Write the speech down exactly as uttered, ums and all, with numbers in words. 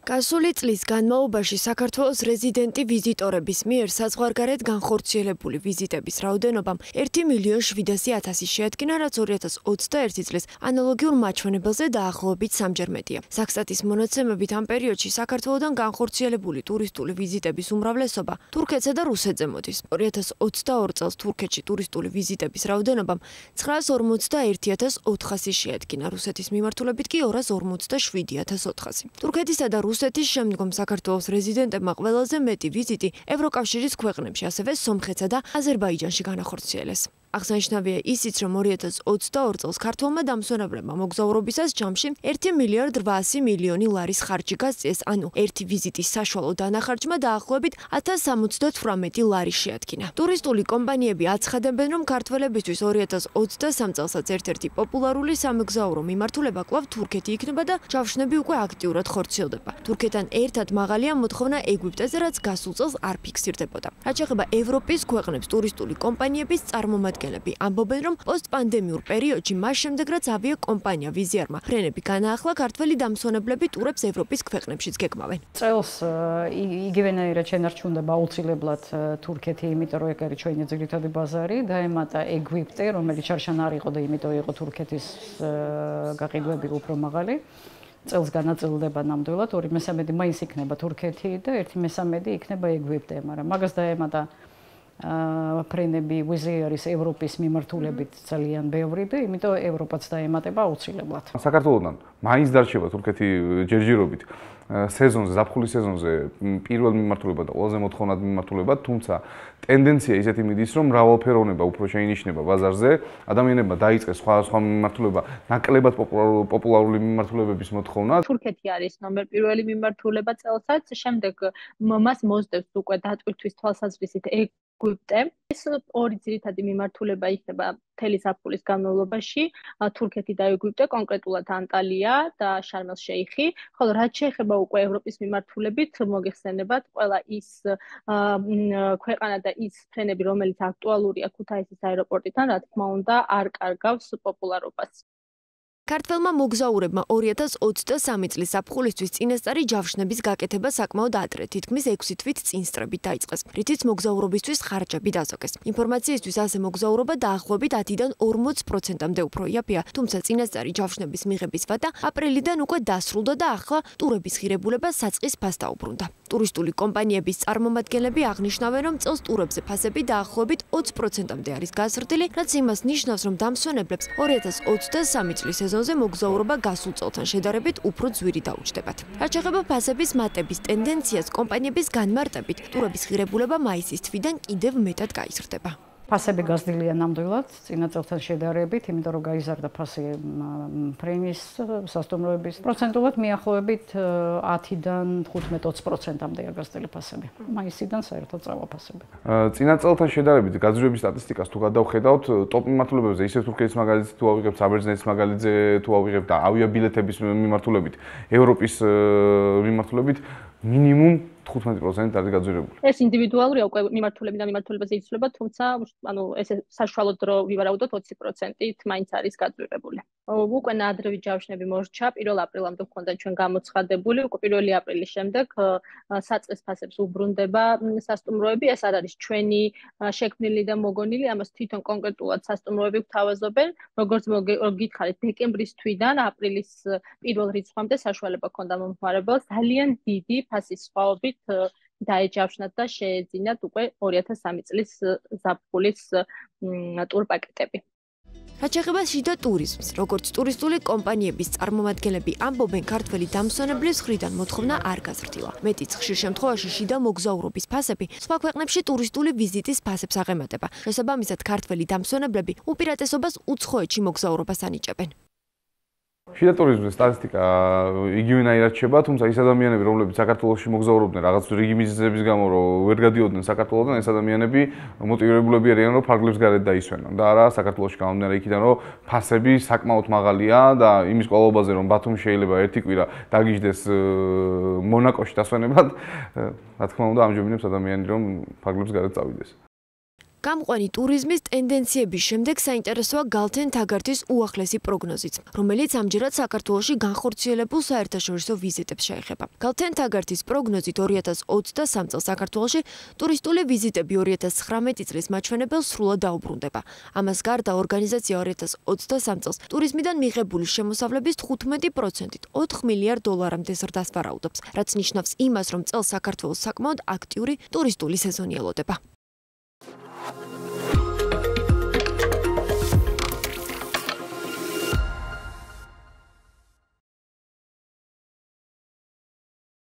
გასული წლის განმავლობაში საქართველოს რეზიდენტი ვიზიტორების მიერ საზღვარგარეთ განხორციელებული ვიზიტების რაოდენობამ ერთი მილიონი შვიდასი ათასი შეადგინა, რაც ორი ათას ოცდაერთი წლის ანალოგიურ მაჩვენებელზე დაახლოებით სამჯერ მეტია. საქსტატის მონაცემებით ამ პერიოდში საქართველოდან განხორციელებული ტურისტული ვიზიტების უმრავლესობა თურქეთსა და რუსეთზე მოდის. ორი ათას ოცდაორი წელს თურქეთში ტურისტული ვიზიტების რაოდენობამ ცხრაას ორმოცდაერთი ათას ოთხასი შეადგინა, რუსეთის მიმართულებით კი ორას ორმოცდაშვიდი ათას ოთხასი. თურქეთისა და რუსეთის შემდგომ საქართველოს რეზიდენტებმა ყველაზე მეტი ვიზიტი ევროკავშირის ქვეყნებში, ასევე სომხეთსა და აზერბაიჯანში განახორციელეს. აღსანიშნავია ისიც, რომ ორი ათას ოცდაორი წელს ქართველმა დამსვენებლებმა მოგზაურობისას ჯამში ერთი მილიარდ რვაასი მილიონი ლარის ხარჯი გასწიეს, ანუ ერთი ვიზიტის საშუალო დანახარჯმა დაახლოებით ათას სამოცდათვრამეტი ლარი შეადგინა. ტურისტული კომპანიები აცხადებენ, რომ ქართველებისთვის ორი ათას ოცდასამი წელსაც ერთ-ერთი პოპულარული სამგზავრო მიმართულება კვლავ თურქეთი იქნება და ჯავშნები უკვე აქტიურად ხორციელდება. თურქეთთან ერთად მაღალია მოთხოვნა ეგვიპტეზე, რაც გასულ წელს არ ფიქსირდებოდა. რაც შეეხება ევროპის ქვეყნებს, ტურისტული კომპანიების წარმომადგენლები ამბობენ, რომ პოსტპანდემიურ პერიოდში მას შემდეგ, რაც ავიაკომპანია ვიზიარმა ფრენები განაახლა, ქართველი დამსვენებლები ტურებს ევროპის ქვეყნებშიც გეგმავენ. წელს იგივენაირად შენარჩუნდება აუცილებლად თურქეთი, იმიტომ რომ ეგ არის ჩვენი ძირითადი ბაზარი, დაემატა ეგვიპტე, რომელიც შარშან არ იყო და იმიტომ იყო თურქეთის გაყიდვები უფრო მაღალი. წელს განაწილდება ნამდვილად, ორი მესამედი მაინც იქნება თურქეთი და ერთი მესამედი იქნება ეგვიპტე, მაგრამ მაგას დაემატა ფრენები ვიზიარის ევროპის მიმართულებით ძალიან ბევრი და იმიტომ ევროპაც დაემატება აუცილებლად. საქართველოსთან მაინც დარჩება თურქეთი ჯერჯერობით სეზონზე, ზაფხულის სეზონზე პირველ მიმართულება და ყველაზე მოთხოვნად მიმართულება, თუმცა ტენდენცია ისეთი მიდის, რომ მრავალფეროვნება უფრო შეინიშნება ბაზარზე, ადამიანებმა დაიწყეს სხვა სხვა მიმართულება, ნაკლებად პოპულარული მიმართულებების მოთხოვნა. თურქეთი არის ნომერ პირველი მიმართულება წელსაც, შემდეგ მას მოსდევს უკვე დატვირთვის თვალსაზრისით ეგვიპტე. ეს ორი ძირითადი მიმართულება იქნება მთელი ზაფხულის განმავლობაში, თურქეთი და ეგვიპტე, კონკრეტულად ანტალია და შარმელ-შეიხი, ხოლო რაც შეეხება უკვე ევროპის მიმართულებით, მოგეხსენებათ ყველა ის ქვეყანა და ის ფრენები, რომელიც აქტუალურია ქუთაისის აეროპორტიდან, რა თქმა უნდა, არ კარგავს პოპულარობას. ქართველმა მოგზაურებმა ორი ათას ოცდასამი წლის ზაფხულისთვის წინასწარი ჯავშნების გაკეთება საკმაოდ ადრე, თითქმის ექვსი თვით წინ სწრებით დაიწყეს, რითიც მოგზაურობისთვის ხარჯები დაზოგეს. ინფორმაციისთვის ასე მოგზაურობა დაახლოებით ათიდან ორმოც პროცენტამდე უფრო იაფია, თუმცა წინასწარი ჯავშნების მიღების ვადა აპრილიდან უკვე დასრულდა და ახლა ტურების ღირებულება საწყის ფასს დაუბრუნდა. ტურისტული კომპანიების წარმომადგენლები აღნიშნავენ, რომ წელს ტურებზე ფასები დაახლოებით ოცი პროცენტამდე არის გაზრდილი, რაც იმას ნიშნავს, რომ დამსვენებლებს ორი ათას ოცდასამი წლის სეზონზე მოგზაურობა გასულ წელთან შედარებით უფრო ძვირი დაუჯდებათ. რაც შეეხება ფასების მატების ტენდენციას, კომპანიების განმარტებით, ტურების ღირებულება მაისის თვიდან კიდევ მეტად გაიზრდება. ფასები გაზრდილია ნამდვილად წინა წელთან შედარებით, იმიტომ რომ გაიზარდა ფასი ფრენის სასტუმროების. პროცენტულად მიახლოებით ათიდან თხუთმეტ ოცი პროცენტამდეა გაზრდილი ფასები. მაისიდან საერთოდ წავა ფასები. წინა წელთან შედარებით გაზრდების სტატისტიკას თუ გადავხედავთ, ტოპ მიმართულებებზე ისე თურქეთის მაგალითზე თუ ავიღებთ, საბერძნეთის მაგალითზე თუ ავიღებთ და ავიაბილეთების მიმართულებით, ევროპის მიმართულებით მინიმუმ თხუთმეტი პროცენტი არის გაძვირებული. ეს ინდივიდუალურია, უკვე მიმართულებიდან მიმართულებაზე იცვლება, თუმცა ანუ ესე საშუალოდ რო ვივარაუდოთ ოცი პროცენტით მაინც არის გაძვირებული. უკვე ნაადრევი ჯავშნები მორჩა, პირველ აპრილამდე ჰქონდა ჩვენ გამოცხადებული, უკვე პირველი აპრილის შემდეგ საწყის ფასებს უბრუნდება სასტუმროები, ეს არ არის ჩვენი შექმნილი და მოგონილი, ამას თვითონ კონკრეტულად სასტუმროები გვთავაზობენ, როგორც გითხარით, დეკემბრის თვიდან აპრილის პირველ რიცხვამდე საშუალება ჰქონდა მომხმარებელს ძალიან დიდი ფასის სხვაობით დაეჯავშნათ და შეეძინათ უკვე ორი ათას სამი წლის ზაფხულის ტურპაკეტები. რაც შეეხება შიდა ტურიზმს, როგორც ტურისტული კომპანიების წარმომადგენლები ამბობენ, ქართველი დამსვენებლის მხრიდან მოთხოვნა არ გაზრდილა. მეტიც ხშირ შემთხვევაში შიდა მოგზაურობის ფასები სხვა ქვეყნებში ტურისტული ვიზიტის ფასებს აღემატება. შესაბამისად, ქართველი დამსვენებლები უპირატესობას უცხოეთში მოგზაურობას ანიჭებენ. შიდა ტურიზმის სტატისტიკა იგივენაირად რჩება, თუმცა ის ადამიანები, რომლებიც საქართველოში მოგზაურობდნენ რაღაც რიგი მიზეზების გამო, რომ ვერ გადიოდნენ საქართველოდან, ეს ადამიანები მოტივირებულები არიან, რომ ფარგლებს გარეთ დაისვენონ და არა საქართველოში გამომდინარე იქიდან, რომ ფასები საკმაოდ მაღალია და იმის ყოლობაზე, რომ ბათუმი შეიძლება ერთი კვირა დაგიждდეს მონაკოში დასვენებად, რა თქმა უნდა, ამჯობინებს ადამიანი, რომ ფარგლებს გარეთ წავიდეს. გამყვანი ტურიზმის ტენდენციების შემდეგ საინტერესოა გალთენ თაგარტის უახლესი პროგნოზიც, რომელიც ამჯერად საქართველოში განხორციელებულ საერთაშორისო ვიზიტებს შეეხება. გალთენ თაგარტის პროგნოზით ორი ათას ოცდასამ წელს საქართველოში ტურისტული ვიზიტები ორი ათას ცხრამეტი წლის მაჩვენებელს სრულად დაუბრუნდება. ამას გარდა ორგანიზაცია ორი ათას ოცდასამ წელს ტურიზმიდან მიღებული შემოსავლების თხუთმეტი პროცენტით ოთხ მილიარდ დოლარამდე ზრდას ვარაუდობს, რაც ნიშნავს იმას, რომ წელს საქართველოს საკმაოდ აქტიური ტურისტული სეზონი ელოდება.